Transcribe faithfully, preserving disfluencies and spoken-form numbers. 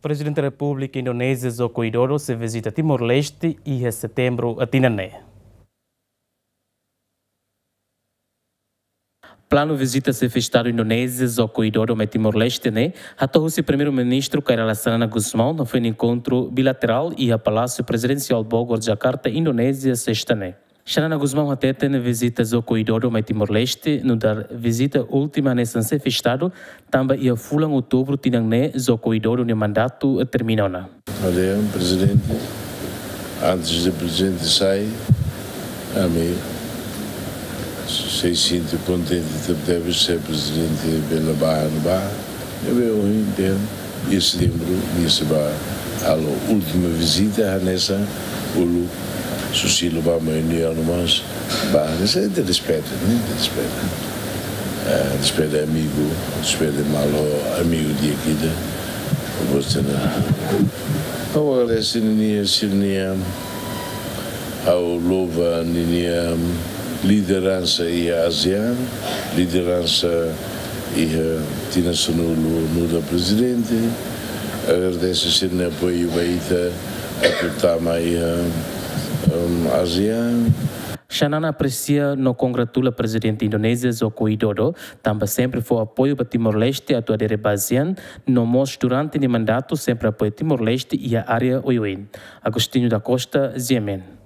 Prezidente Repúblika Indonézia Joko Widodo sei vizita Timor-Leste iha setembru tinan ne'e. Planu vizita Xefe Estadu Indonézia Joko Widodo mai Timor-Leste ne'e hato'o husi Primeiru-Ministru Kay Rala Xanana Gusmão no foin enkontru bilaterál iha Palásiu Prezidensiál Bogor, Jakarta, Indonézia, sesta ne'e. Xanana Gusmão hateten vizita Joko Widodo mai Timor-Leste nu'udar vizita última hanesan Xefe Estadu, tanba iha fulan Outubru tinan ne'e Joko Widodo nia mandatu termina ona. Olha, prezidente, antes de prezidente sai, ami sei sente kontente tebetebes se prezidente bele bá, bá. Ne'ebé ohin dehan, iha setembru, nia sei bá halo última vizita, hanesan uluk Susilo bá mai, nia no mas bá, hanesan ita despeje, ne'e? Ita despeje. Eh, despeje amigu, despeje malu amigu di'ak ida. Boa semana. Ha'u agradese ninia, sira-nia, ha'u louva ninia lideransa iha ASEAN, lideransa iha tinan sanulu nu'udar prezidente. Agradese sira-nia apoiu ba ita atu tama iha, em, ASEAN. Xanana apresia no kongratula Prezidente Indonézia Joko Widodo, tanba sempre fó apoiu ba Timor-Leste atu adere ba ASEAN, no mós durante nia mandatu sempre apoia Timor-Leste iha área oioin. Agostinho da Costa, GMN.